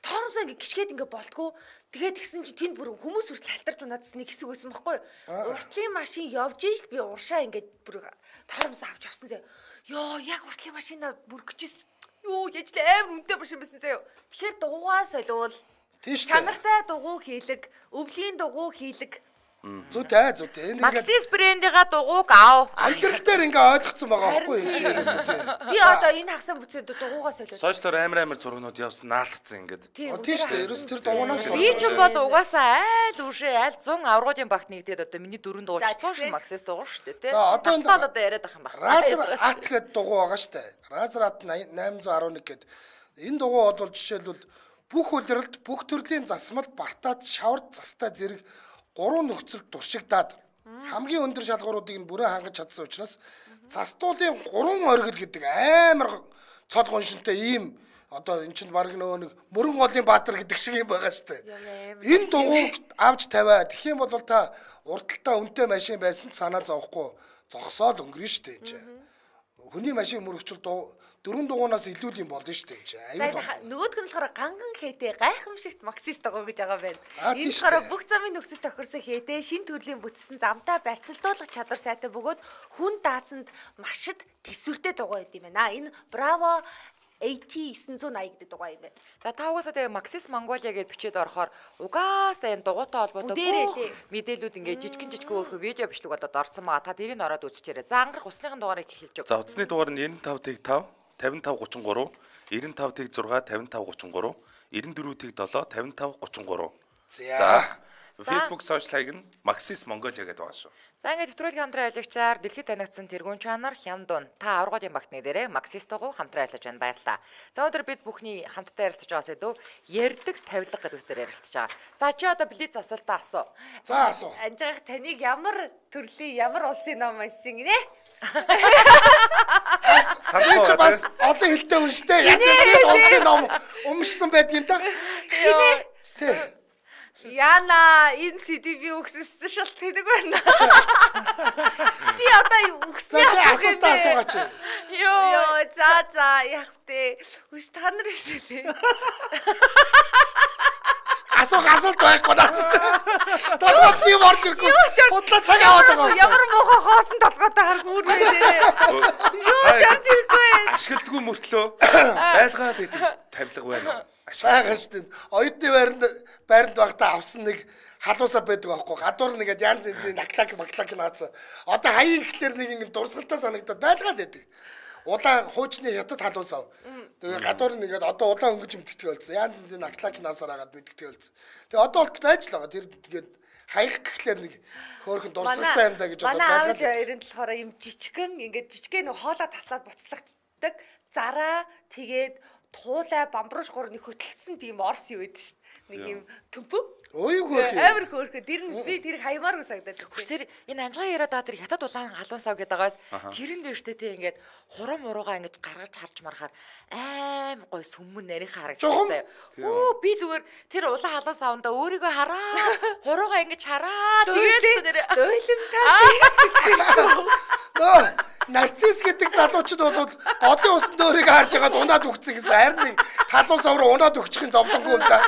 Торомсоо ингээ гიშгээд ингээ болтгоо. Тэгээд игсэн чи тэнд бүр хүмүүс хүртэл халтарч унаас нэг хэсэг байсан байхгүй юу? Уртлын машин явж иж би уршаа ингээд бүр торомсоо авч явсан заяа. Йоо, яг уртлын машинаа бүр гिचсэн. Юу яж л амар үнэтэй машин байсан заяа. Тэгэхээр дугуйгаа солиул. Чанартай дугуй хийлэг, өвлийн дугуй хийлэг. Зүйтэй зүйтэй. Энэ ингээд Максис брендийнхаа дугуйг ав. амьдрал дээр ингээ ойлгоцсон байгаа байхгүй юу чи ерөөсөө тийм. Би одоо энэ хагсан бүцэд дугуйгаа солиул. Сошиалор амар амар зургнууд явсан наалтцсан ингээд. Тийм шүү дээ. Ерөөс тэр дугуунаас Би ч бол угаасаа айл үшээ айл one hundred аврагын багт нэгдээд одоо миний дөрөв дугуйч цааш Максис дугуй шүү дээ тий. За одоо одоо одоо яриад ах юм байна. Разер ат гэдэг дугуй байгаа шүү дээ. Разер ат eight eleven гэдэг. Энэ дугуй бол жишээлбэл бүх улиралд бүх төрлийн засмал, бартаад, шавард, застай зэрэг гурван нөхцөлд туршигдаад Хамгийн өндөр шалгууруудыг нь бүрэн хангаж чадсан учраас застуулын гурван оргил гэдэг амар цол гоншинтай ийм одоо эн чинь баг нөгөө нэг мөрөн голын баатар гэдэг шиг юм байгаа шүү дээ. Энэ дугуйг авч тавиа. Тэгэх юм бол та урдталтаа үнэтэй машин байсан ч санаа зовхгүй зогсоод өнгөрнө шүү дээ энэ чинь. Хүний машин мөрөгчл дөрвөн дугуунаас илүү юм болно шүү дээ энэ чинь. Нөгөөдг нь болохоор ганган хээтэй гайхамшигт Максис догоо гэж байгаа байна. Энэ болохоор бүх замын нөхцөл тохирсон хээтэй шин төрлийн бүтсэн замтай барьцалдуулах чадвар сайтай бөгөөд хүн даацанд машид төсвөртэй дугаа байд юм байна. Энэ Bravo A T nine eighty гэдэг дугаа юм байна. За та угаасаа тэгээ Maxis Mongolia гэдээ бичээд орохоор угаасаа энэ дугуйтай холбоотой мэдээлүүд ингээд жижигэн жижиг өөрхөө видео бичлэг болоод орсон байгаа. Та тэрийг ороод үзчихээрэй. За ангарах усныхын дугаарыг эхэлж өг. За утасны дугаар нь ninety-five five fifty-five thirty-three, ninety-five six fifty-five thirty-three, ninety-four seven fifty-five thirty-three. За Facebook social хаяг нь Maxis Mongolia гэдэг байгаа шүү. За ингээд нэвтрүүлгийн хамтран ажиллагчаар дэлхийд танигдсан тэргуун чанар Хямдун та аврагын багтны дээрээ Maxis дугуй хамтран ажиллаж байна, баярлалаа. За өнөөдөр бид бүхний хамтдаа ярилцаж байгаа сэдв ярддаг тавилга гэдэг зүйл ярилцаж байгаа. За чи одоо блиц асуултаа асуу. За асуу. Анжаах таныг ямар төрлийн ямар улсын ном айсан гинэ? Санаа чи бас одоо хэлтэй үнштэй. Яг улсын ном өмшсөн байдаг юм да. Хинэ? Тэ. Яна энэ си ди би өгсөсөн шалт хийдэг байна. Би одоо өгснээ асуултаа асуугач. Йоо за за яг тэ үс та нар шүү дээ. Асуух асуулт байхгүй надад чи. Тодорхой юм орж ирэхгүй. Бодлоо цаг аваад байгаа. Ямар муухай хоосон толгойтой харгүй үү. Юу чарж ирэхгүй. Ашигладгүй мөртлөө байлгаа л гэдэг тавилга байна. Сайхан шүү дээ. Оюутны байранд байранд багтаа авсан нэг халуусаа байдаг байхгүй. Гадуур нэгэд янз янзын наклак маклак наацсан. Одоо хаяа ихлээр нэг ингэ дурсгалтай санагдаад байлгаа л байдаг. Улаан хуучны хятад халуусаа. Тэгээ гадуур нэгэд одоо улаан өнгөж өмтгдэх болсон. Янз янзын наклак наасаар агаад мэдгдэх болсон. Тэгээ одоо болт байж л байгаа. Тэр тэгээд хаях гэхлээр нэг хөөрхөн дурсгалтай юм да гэж бодоод байлгаа. Манай аав хоёрын болохоор юм жижигхэн ингээд жижигхэн нэг хоолоо таслаад буцлагдаг. Зараа тэгээд туулай бамбруш гурны хөтөлсөн тийм орс юу байдаг шүү дээ. Нэг юм төмпөө. Ой хөөрхөн. Амар хөөрхөн. Тэр нь би тэр хаймааргүй санагдаад. Хүсэр энэ анжгаа яриад байгаа тэр хятад улаан халуун сав гэдэгээс тэрэн дээр штэ тий ингээд хурам уруугаа ингэж гаргаж харж марахаар аим гой сүмэн нарийнхаа харагдаж заяа. Өө би зүгээр тэр улаан халуун савндаа өөрийгөө хараа. Хуруугаа ингэж хараа. Тэгээд тэр дойломтай. Нөө нарцисс гэдэг залуучууд бол одын усанд өөрийгөө харж байгаад унаад өгцөн гэсэн харин нэг халуун сав руу унаад өгчихын зовлонгүй юм да.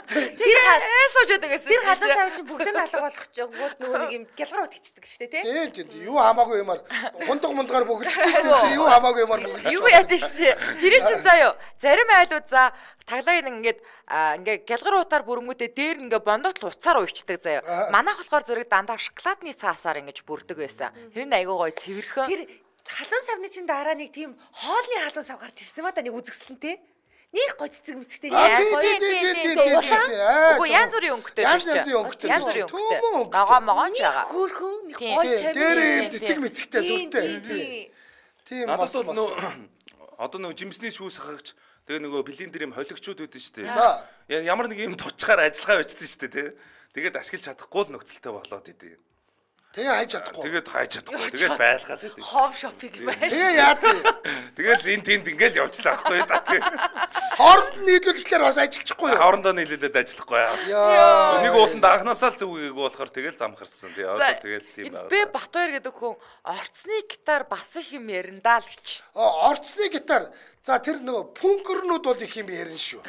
Тэр эсэж байдаг гэсэн. Тэр халуун сав чинь бүгдээ алга болох ч гууд нөгөө нэг юм гялгар утгичдэг шүү дээ тий. Тийм тийм юу хамаагүй юмар хундаг мундгаар бөглөжтэй шүү дээ чи юу хамаагүй юмар бөглөж. Юу яадаг шүү дээ. Тэр чинь заа юу. Зарим айлууд за таглааг ингээд ингээ гялгар утаар бүрэнгүүтээ дээр ингээ бондот уцаар уйчдаг заяа. Манайх болохоор зэрэг дандаа шоколадны цаасаар ингэж бүрдэг байсан. Тэр нь айгуу гоё цэвэрхэн. Тэр халуун савны чинь дараа нэг тийм хоолны халуун сав гарч ирсэн ба та нэг үзэгслэн тий. Них гой цэцэг мэцэгтэй яа гоё тийм тийм. Үгүй янз бүрийн өнгөтэй янз янзын өнгөтэй. Янз бүрийн өнгөтэй. Ногоо могоо ч байгаа. Хөөрхөн нэг гой чамээ. Дээр цэцэг мэцэгтэй сүртэй. Тийм бас бас. Одоо нөгөө жимсний шүүс хагч тэгээ нөгөө блендер юм холигчуд үүдэн шүү дээ. За ямар нэг юм тучгаар ажиллагаа бичсэн шүү дээ тий. Тэгээд ашиглаж чадахгүй л нөхцөлтэй болоод идэв. Тэгээ хайж чадахгүй. Тэгээд хайж чадахгүй. Тэгээд байлгаад идэв. Home shopping байна. Тэгээ яа тий. Тэгэл энэ тэнд ингээл явжлаа байхгүй да тий. Хооронд нийлүүлэхлээр бас ажиллахгүй юу? Хоорондоо нийлүүлээд ажиллахгүй бас. Нэг уутанд анханасаа л зүг гээгүй болохоор тэгэл замхарсан тий. Одоо тэгэл тийм байна. Би Батбаяр гэдэг хүн орцны гитар бас их юм яриндаа л гэж. Орцны гитар. За тэр нөгөө пүнкернүүд бол их юм ярина шүү.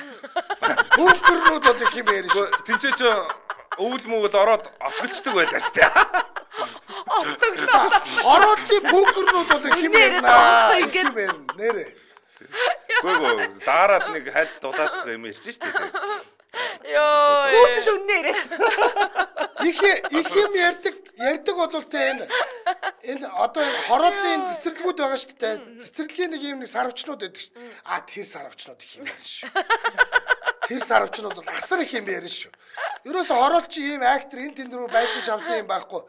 Пүнкернүүд бол их юм ярина шүү. Тинчээ ч өвөл мөвөл ороод отголцдог байлаа шүү дээ. Ороодын пүнкернүүд бол их юм ярина. Ингээд ярина нэрэ. Гөө гөө дараад нэг хальт дулаацах юм ярьж шүү дээ. Йоо. Гүйцэл үннээ яриач. Их их юм ярьдаг ярьдаг бол тэ энэ энэ одоо хорооллын цэцэрлэгүүд байгаа шүү дээ. Цэцэрлэгийн нэг юм нэг сарвчнууд байдаг шүү. А тэр сарвчнууд их юм ярина шүү. Тэр сарвчнууд бол асар их юм ярина шүү. Ерөөсө хороолч ийм актер энэ тэнд рүү байшин шавсан юм байхгүй.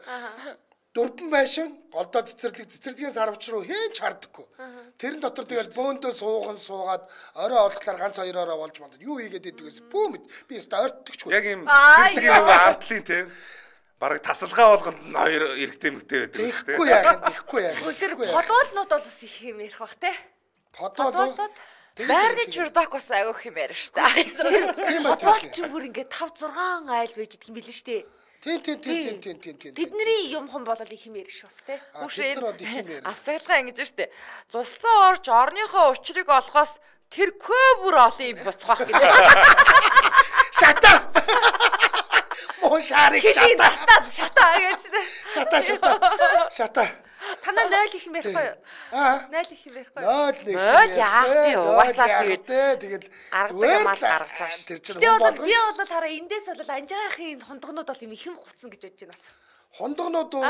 Дөрвөн байшин голдоо цэцэрлэг цэцэрлэгийн сарвч руу хээч хардаггүй. Тэрэн дотор тэгэл бөөндөө сууган суугаад орой олглоор ганц хоёроо болж мандад юу хийгээд идэгээс бүү мэд би өстө ойртдогч. Яг юм цэцэрлэгийн артлын тийм бараг тасалгаа болгонд нь хоёр эрэгтэй мэгтэй байдаг шүү дээ. Ихгүй яах, ихгүй яах. Тэр подуулнууд бол бас их юм ярих бах те. Подуулууд байрны чурдак бас агиох юм ярина шүү дээ. Подуул ч бүр ингээд five six айл байж идэх юм билээ шүү дээ. Тийм тийм тийм тийм тийм тийм. Тэдний юм хон болол их юм ярих бас те. Хүүшээ авцаглага ингэж штэ. Цуслан орж орныхоо учрыг олохоос тэр көө бүр олон юм буцгаах гэдэг. Шата. Мөн шарик шата. Шата гэж. Шата шата. Шата. Танаа нойл их юм ярихгүй юу? Аа. Нойл их юм ярихгүй юу? Нойл нэг. Нойл яах вэ? Угаасаа тэгээд тэгээд зүгээр мал гаргаж байгаа шүү. Тэр чинь би бол би бол хараа эндээс бол анжаагийнхын хондгонууд бол юм ихэн гуцсан гэж бодож байна бас. Хондгонууд уу?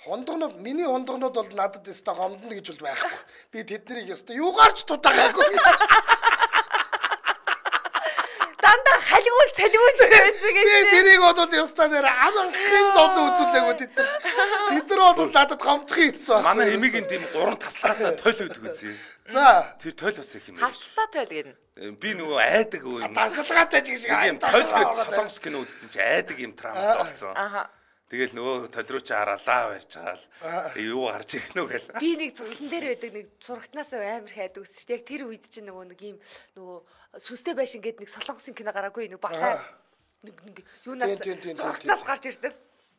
Хондгонууд миний хондгонууд бол надад өстой гомдно гэж бол байхгүй. Би тэднийг өстой юугаарч тудаагаагүй. Дандаа халигуул цалигуул байсан гэж. Би тэрийг бодоод өстой нэр аманхын зовлон үзүүлээгүй тэд нар. Тэд нар бол надад гомдох ийцсэн. Манай эмигийн тийм гурван таслаатай тойл өгдөг байсан. За. Тэр тойл бас их юм. Хавцлаа тойл гэдэг. Би нөгөө айдаг юм. Тасалгаатай ч гэж юм. Тойл гэж солонгос кино үзсэн чи айдаг юм травмат болсон. Аха. Тэгэл нөгөө тойл руу чи хараалаа барьж байгаа л юу гарч ирэх нөө гэл. Би нэг цусан дээр байдаг нэг зурагтнаас амар хайд үзчих. Яг тэр үед чинь нөгөө нэг юм нөгөө сүнстэй байшин гээд нэг солонгосын кино гараагүй нэг баглаа. Нэг нэг юунаас зурагтнаас гарч ирдэг.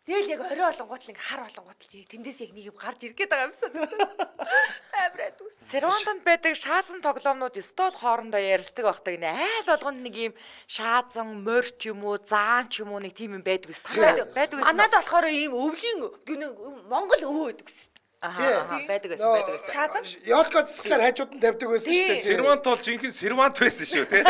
Тэгэл яг орой олонгот л ингээ хар олонгот л тэндээс яг нэг юм гарч ирэх гээд байгаа юмсан. Амар айд үс. Сервантанд байдаг шаазан тоглоомнууд стол хоорондоо ярилцдаг багтаг нэ айл болгонд нэг юм шаазан морч юм уу заан ч юм уу нэг тийм юм байдаг ус. Байдаг ус. Манайд болохоор ийм өвлийн Монгол өвөө байдаг ус. Аа байдаг ус байдаг ус. Шаазан Ёлко цэцлэр хажууд нь тавьдаг байсан шүү дээ. Сервант бол жинхэнэ сервант байсан шүү тий.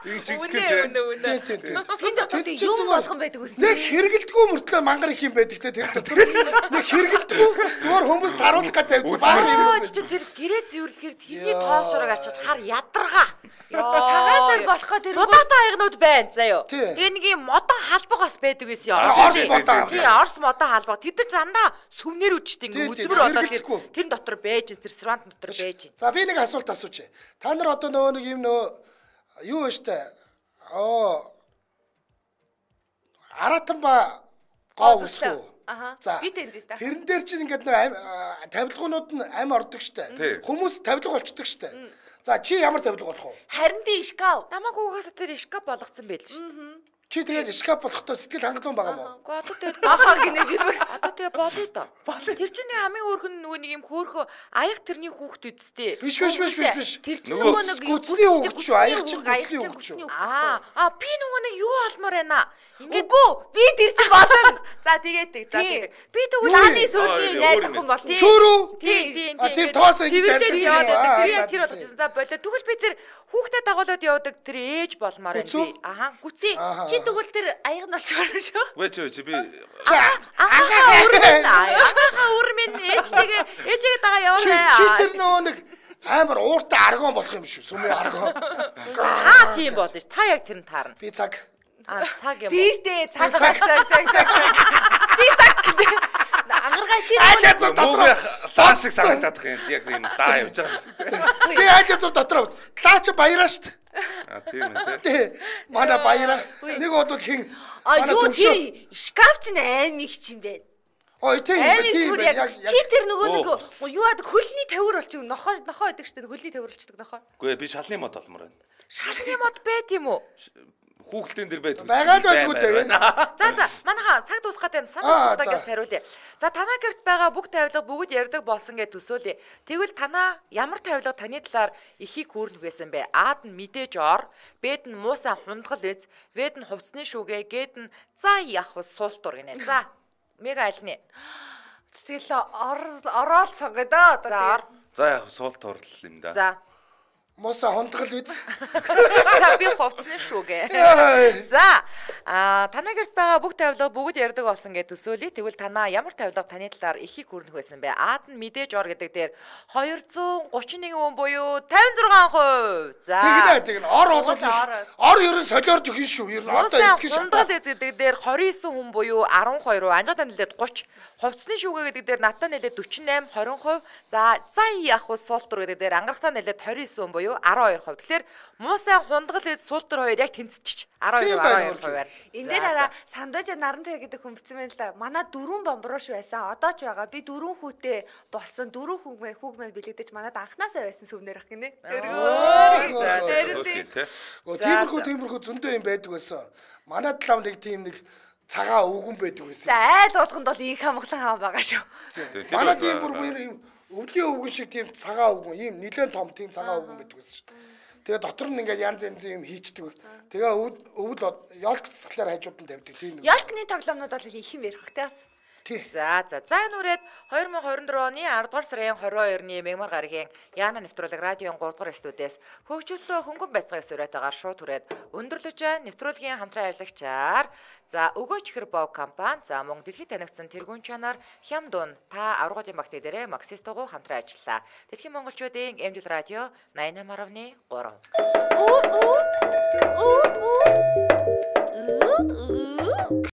Тийм жинхэнэ. Үнэ үнэ. Тийм тийм. тэнд одоо юм болгон байдаг ус. Нэг хэрэгэлдэггүй мөртлөө мангар их юм байдаг те тэр дотор. Нэг хэрэгэлдэггүй зүгээр хүмүүс таруулах гэж тавьсан баг юм байна. Тэр гэрээ зэвэрлэхээр тэрний тоос шуурыг арчиж хар ядаргаа. Цагаасаар болохоо тэр Модотой аягнууд байна заяо. Тэгээ нэг юм модон халбаг бас байдаг байсан юм. Орс модоо. Тийм орс модон халбаг. Тэд нар зандаа сүмнэр үчтэй ингээ үзмэр болоод тэр дотор байж тэр сервант дотор байж. За би нэг асуулт асууч. Та нар одоо нөгөө нэг юм нөгөө юу вэ штэ? Оо Аратанба гоо үсгүү. Аха. Би тэндээс та. Тэрэн дээр чинь ингээд нөгөө тавилгуунууд нь ам ордог штэ. Хүмүүс тавилга болчдөг штэ. За чи ямар тавилга болох вэ? Харин тий шкаф. Намайг угаасаа тэр шкаф болгоцсон байл шүү дээ. Чи тэгээд шкаф болохтой сэтгэл хангалуун байгаа мó? Уу одоо тэгээд ахаа гинэ би одоо тэгээд болоо доо. Тэр чинь нэг хамгийн өөрхөн нөгөө нэг юм хөөхөө аяг тэрний хүүхд үсттэй. Биш биш биш биш биш. Тэр чинь нөгөө нэг гүцний хүүхд шүү. Аяг чинь гүцний хүүхд шүү. Аа а би нөгөө нэг юу алмаар байна. Ингээд үгүй би тэр чинь болно. За тэгээд тэг. За тэгээд би тэгвэл лааны сүүлийн найз охин болно. Шүүрүү. Тийм тийм. А тэр тоос ингэж яваад би яг тэр болгочихсон. За болоо. Тэгвэл би тэр хүүхдэд дагуулад явдаг тэр ээж болмоор байна би. Аха гүцээ. Чи тэгвэл тэр аяг нь болчихоор шүү. Вэж вэж би анхаа үрмэн анхаа үрмэн ээжтэйгээ ээжигээ дагаа яваарай. Чи тэр нөгөө нэг амар ууртай аргон болох юм шүү. Сүмээ аргон. Та тийм болно ш. Та яг тэр нь таарна. Би цаг. А цаг юм. Тийш дээ цаг цаг цаг цаг. Би цаг. Ангаргаа чи нөгөө лаа шиг санагдаад их юм. Яг юм лаа явж байгаа юм шиг. Би айлаа зур дотор лаа чи баяраа штт. А тийм ээ. Тий. Манай баяраа. Нэг бол хин. А юу тэр шкаф чинь аим их юм бэ? Ой тийм тийм яг чи тэр нөгөө нэг юу ад хөлний тавир болчих нохоо нохоо байдаг штт хөлний тавир болчихдаг нохоо. Үгүй би шалны мод олмоор байна. Шалны мод байт юм уу? Хүүхэлтэн дээр байдаг. Байгаа л байггүй дээ. За за манайха цаг дуусгаад байна. Санаа удаагаас хариулъя. За танаа гэрт байгаа бүх тавилга бүгд ярьдаг болсон гэж төсөөлье. Тэгвэл танаа ямар тавилга таны талаар ихийг хүүрнэх байсан бэ? Аад нь мэдээж ор, Бэд нь муусан хундгал эз, Вэд нь хувцсны шүүгээ, Гэд нь за яах вэ суултур гинэ. За мега альны. Тэгэл ороод сонгоё да. За за яах суул турлал юм да. За Моса хондгол үз. За би хувцсны шүүгээ. За а танаа гэрт байгаа бүх тавилга бүгд ярьдаг болсон гэж төсөөлье. Тэгвэл танаа ямар тавилга таны талаар ихийг хүрнэх байсан бэ? Аад нь мэдээж ор гэдэг дээр two thirty-one хүн буюу fifty-six percent. За тэгнэ тэгнэ ор бол ор ерөн солиорж өгнө шүү. Ер нь одоо их шиг хундгал эз гэдэг дээр twenty-nine хүн буюу twelve percent, анжаатай нэлээд thirty. Хувцсны шүүгээ гэдэг дээр надтай нэлээд forty-eight, twenty percent. За за яах вэ суултур гэдэг дээр ангарахтай нэлээд twenty-nine хүн буюу twelve percent. Тэгэхээр муусан хундгал эз суултур хоёр яг тэнцчих 12 12 хувиар. Энд дээр хараа Сандаж Нарантай гэдэг хүн бичсэн байна л да. Манай дөрвөн бомброш байсан. Одоо ч байгаа. Би дөрвөн хүүтэй болсон. Дөрвөн хүүг хүүг маань бэлэгдэж манад анханасаа байсан сүвнэр ах гинэ. Тиймэрхүү тиймэрхүү зөндөө юм байдаг байсан. Манай талав нэг тийм нэг цагаан өвгөн байдаг байсан. За айл болгонд бол их хамглан хаан байгаа шүү. Манай тийм бүр юм өвлийн өвгөн шиг тийм цагаан өвгөн ийм нэлээд том тийм цагаан өвгөн байдаг байсан шүү. Тэгээ дотор нь ингээд янз янзын юм хийчдэг. Тэгээ өвөл ёлк цэцгэлээр хажууд нь тавьдаг тийм. Ёлкны тоглоомнууд бол их юм ярих хэрэгтэй бас. За за за энэ үрээд две тысячи двадцать two оны ten дугаар сарын twenty-two-ны Мегмар гарагийн Яна нэвтрүүлэг радион three дугаар студиэс хөгжүүлэлтөө хөнгөн байцгааг сураатаагаар шууд түрээд өндөрлөж байгаа нэвтрүүлгийн хамтран ажиллагчаар за өгөөч ихэр бов компани за мөн дэлхийд танигдсан тэргүүн чанар Хямдун та аврагын багт дээрээ Максистогоо хамтран ажиллаа. Дэлхийн монголчуудын эмжил радио ninety-eight point three.